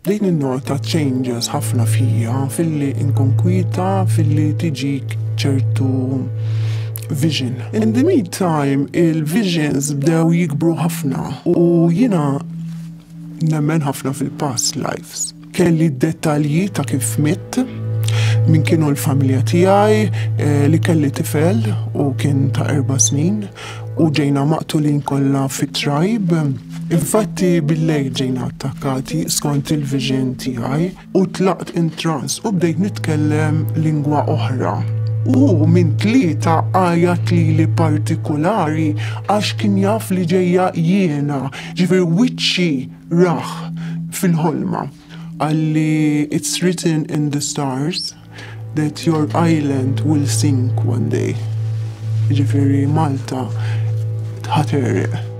Bdejt ninnota changes ħafna fija, filli nkun kwieta, filli tiġik ċertu vision. In the meantime, il-visions bdew jikbru ħafna u jiena nemmen ħafna fil-past lives. Kelli dettalji ta' kif mitt, min kienu l-familja tiegħi, li kelli tifel u kien ta' 4 snin u ġejna maqtulin kollha fit-tribe. Infatti bil-lejl ġejna attakkati skont il-vision tiegħi u tlaqt in trance u bdejt nitkellem lingwa oħra. U minn tlieta għajat lili partikolari għax kien jaf li ġejja jiena, ġifieri wiċċi rah fil-ħolma. Qalli, "It's written in the stars that your island will sink one day." Ġifieri Malta ħa tegħreq.